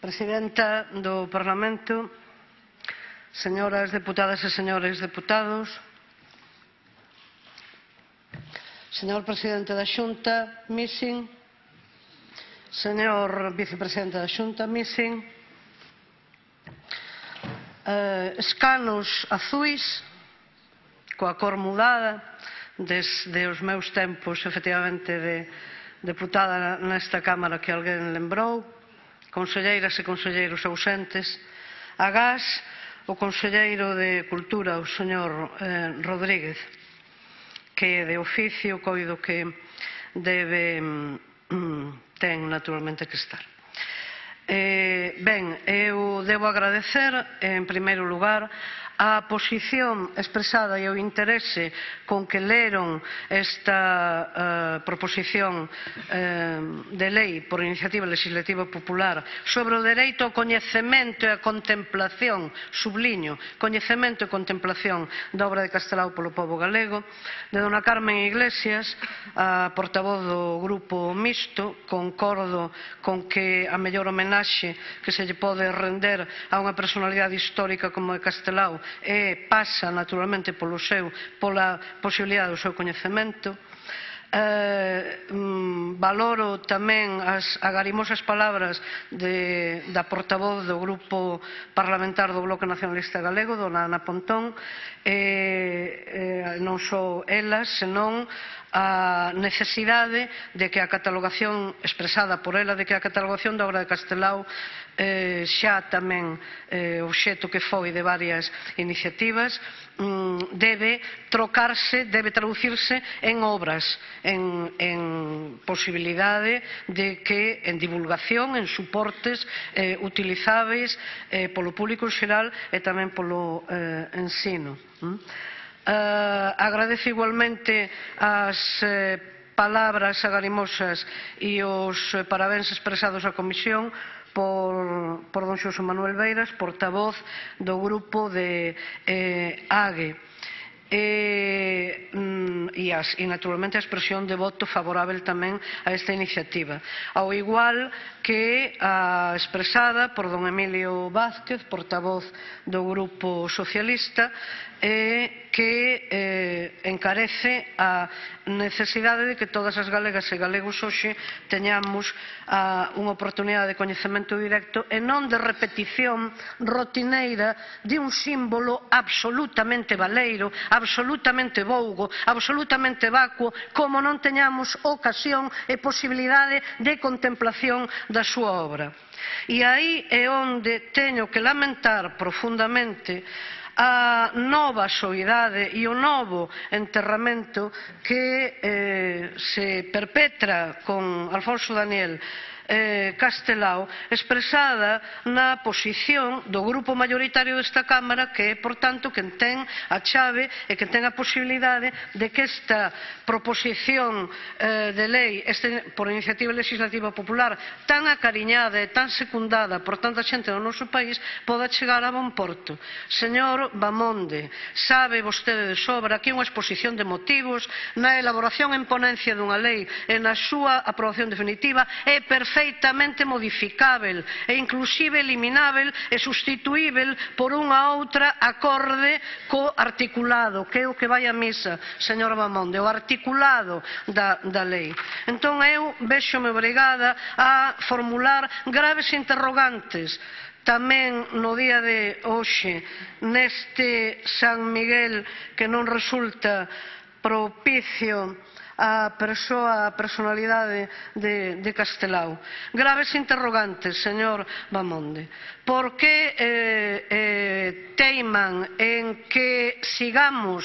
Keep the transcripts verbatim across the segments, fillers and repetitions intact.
Presidenta do Parlamento, señoras deputadas e señores deputados, señor Presidente da Xunta, missing, señor Vicepresidente da Xunta, missing, eh, escanos azuis, coa cor mudada, desde os meus tempos, efectivamente, de deputada nesta Cámara que alguén lembrou, conselleiras e conselleiros ausentes, agás o conselleiro de Cultura, o señor eh, Rodríguez, que de oficio coido que debe, mm, ten naturalmente que estar. Eh, ben, eu debo agradecer, en primeiro lugar, a posición expresada e o interese con que leron esta uh, proposición uh, de lei por iniciativa legislativa popular sobre o dereito ao coñecemento e a contemplación, subliño, coñecemento e contemplación da obra de Castelao polo pobo galego, de dona Carmen Iglesias, a portavoz do Grupo Mixto, concordo con que a mellor homenaxe que se lle pode render a unha personalidade histórica como é Castelao e pasa naturalmente polo seu, pola posibilidade do seu coñecemento. Eh, mm, valoro tamén as agarimosas palabras de, da portavoz do Grupo Parlamentar do Bloque Nacionalista Galego, dona Ana Pontón, eh, eh, non só elas, senón a necesidade de que a catalogación expresada por ela, de que a catalogación da obra de Castelao eh, xa tamén eh, obxeto que foi de varias iniciativas, mm, debe trocarse, debe traducirse en obras, en, en posibilidade de que en divulgación, en suportes eh, utilizáveis eh, polo público en xeral e tamén polo eh, ensino. Mm? Uh, agradezo igualmente as eh, palabras agarimosas e os eh, parabéns expresados á Comisión por, por don Xosé Manuel Beiras, portavoz do grupo de eh, A G E. E, mm, e, as, e naturalmente a expresión de voto favorável tamén a esta iniciativa, ao igual que a expresada por don Emilio Vázquez, portavoz do Grupo Socialista, e que eh, encarece a necesidade de que todas as galegas e galegos hoxe teñamos a, unha oportunidade de coñecemento directo e non de repetición rotineira de un símbolo absolutamente baleiro, absolutamente vougo, absolutamente vacuo, como non teñamos ocasión e posibilidade de contemplación da súa obra. E aí é onde teño que lamentar profundamente a nova soidade e o novo enterramento que eh, se perpetra con Alfonso Daniel eh, Castelao, expresada na posición do grupo mayoritario desta Cámara, que é, por tanto, quen ten a chave e que ten a posibilidade de que esta proposición eh, de lei este, por iniciativa legislativa popular tan acariñada e tan secundada por tanta xente do noso país poda chegar a bon porto. Señor Bamonde, sabe vostede de sobra que unha exposición de motivos na elaboración en ponencia dunha lei e na súa aprobación definitiva é perfectamente modificável e inclusive eliminável e sustituível por unha outra acorde co articulado, que é o que vai a misa, señor Bamonde, o articulado da, da lei. Entón eu véxome obrigada a formular graves interrogantes tamén no día de hoxe neste San Miguel que non resulta propicio a persoa, a personalidade de, de Castelao. Graves interrogantes, señor Bamonde. Por que eh, eh, teiman en que sigamos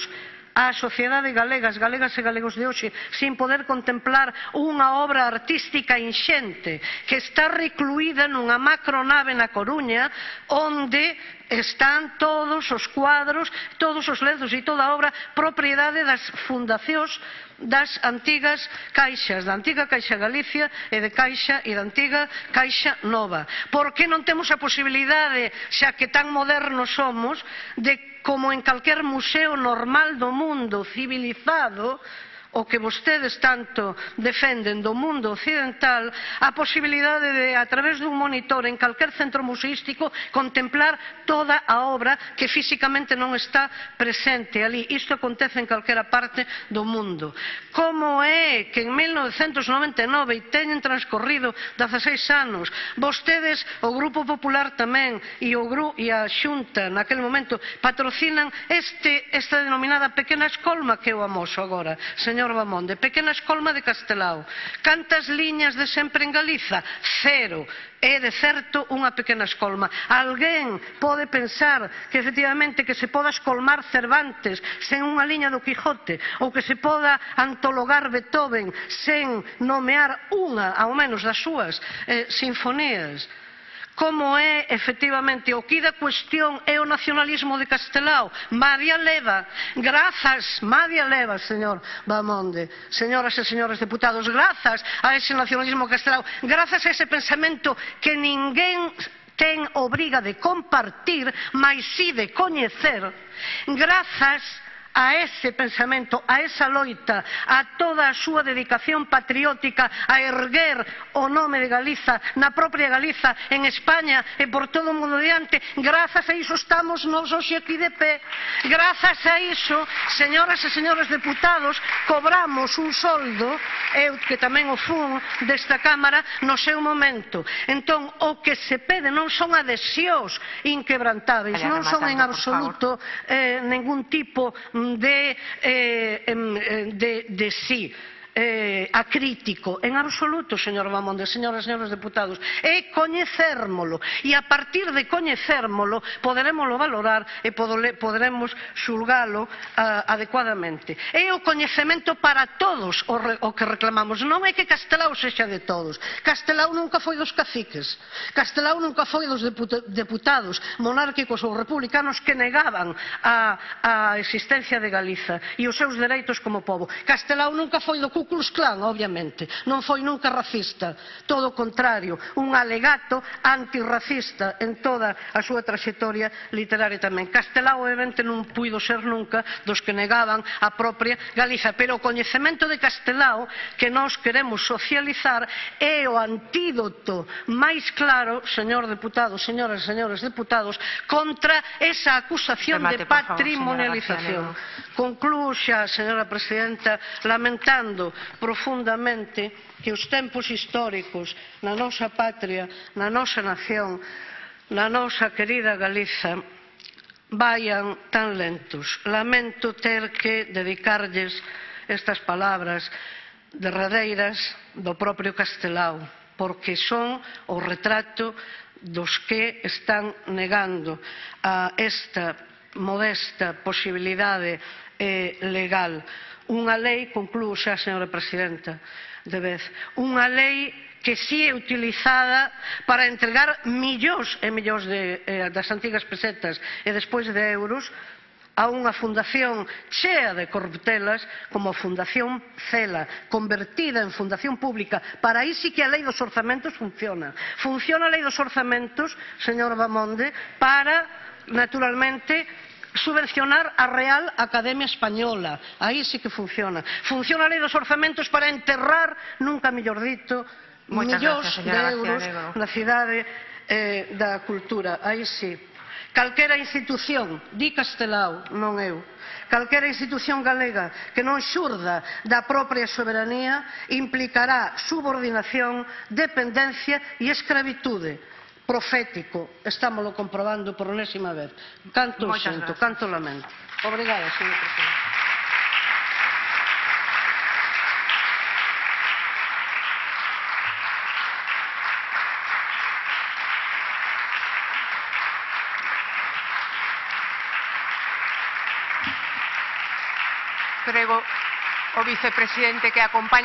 a sociedade galega, as galegas e galegos de hoxe, sin poder contemplar unha obra artística inxente que está recluída nunha macronave na Coruña, onde están todos os cuadros, todos os lenzos e toda a obra propiedade das fundacións das antigas caixas, da antiga Caixa Galicia e de Caixa e da antiga Caixa Nova. Por que non temos a posibilidade, xa que tan modernos somos, de, como en calquer museo normal do mundo civilizado, o que vostedes tanto defenden do mundo occidental, a posibilidade de, a través dun monitor en calquer centro museístico, contemplar toda a obra que físicamente non está presente ali. Isto acontece en calquera parte do mundo. Como é que en mil novecentos noventa e nove, e teñen transcorrido dezaseis anos, vostedes, o Grupo Popular tamén, e, o Gru, e a Xunta, naquele momento, patrocinan este, esta denominada pequena escolma que eu amoso agora, señor Bamonde, pequena escolma de Castelao. Cantas liñas de sempre en Galiza? Cero. É, de certo, unha pequena escolma. Alguén pode pensar que, efectivamente, que se poda escolmar Cervantes sen unha liña do Quijote, ou que se poda antologar Beethoven sen nomear unha, ao menos, das súas eh, sinfonías? Como é, efectivamente, o que da cuestión é o nacionalismo de Castelao? Madia leva, grazas, Madia leva, señor Bamonde, señoras e señores deputados, grazas a ese nacionalismo de Castelao, grazas a ese pensamento que ninguén ten obriga de compartir, mas si de coñecer, grazas a ese pensamento, a esa loita, a toda a súa dedicación patriótica a erguer o nome de Galiza na propia Galiza, en España e por todo o mundo diante, grazas a iso estamos nós hoxe aquí de pé. Grazas a iso, señoras e señores deputados, cobramos un soldo, eu que tamén o fun desta Cámara, no seu momento. Entón, o que se pede non son adhesións inquebrantáveis, non son en absoluto eh, ningún tipo de, eh, de, de sí. Eh, acrítico, en absoluto, señor Bamonde, señoras e señores deputados, é coñecérmolo, e a partir de coñecérmolo poderemoslo valorar e poderemos xulgalo uh, adecuadamente. É o coñecemento para todos o, re, o que reclamamos, non é que Castelao sexa de todos. Castelao nunca foi dos caciques, Castelao nunca foi dos deputados monárquicos ou republicanos que negaban a, a existencia de Galiza e os seus dereitos como pobo. Castelao nunca foi do Ku Klux Klan, obviamente, non foi nunca racista, todo o contrario, un alegato antirracista en toda a súa traxectoria literaria tamén. Castelao, obviamente, non puido ser nunca dos que negaban a propia Galiza, pero o coñecemento de Castelao que nós queremos socializar é o antídoto máis claro, señor deputado, señoras e señores deputados, contra esa acusación de patrimonialización. Conclúo xa, señora presidenta, lamentando profundamente que os tempos históricos na nosa patria, na nosa nación, na nosa querida Galiza vayan tan lentos. Lamento ter que dedicarlles estas palabras derradeiras do propio Castelao, porque son o retrato dos que están negando a esta modesta posibilidade eh, legal. Unha lei, conclúo xa, señora presidenta, de vez, unha lei que si é utilizada para entregar millóns e millóns de, eh, das antigas pesetas e despois de euros a unha fundación chea de corruptelas como a Fundación Cela, convertida en fundación pública. Para aí sí que a lei dos orzamentos funciona. Funciona a lei dos orzamentos, señor Bamonde, para, naturalmente, subvencionar a Real Academia Española. Aí sí que funciona. Funciona a lei dos orzamentos para enterrar, nunca mellor dito, millóns de euros na cidade eh, da cultura. Aí sí. Calquera institución, di Castelao, non eu, calquera institución galega que non xurda da propia soberanía implicará subordinación, dependencia e escravitude. Profético, estámoslo comprobando por enésima vez. Canto sinto, canto lamento. Obrigada, señor presidente. Prego o vicepresidente que acompaña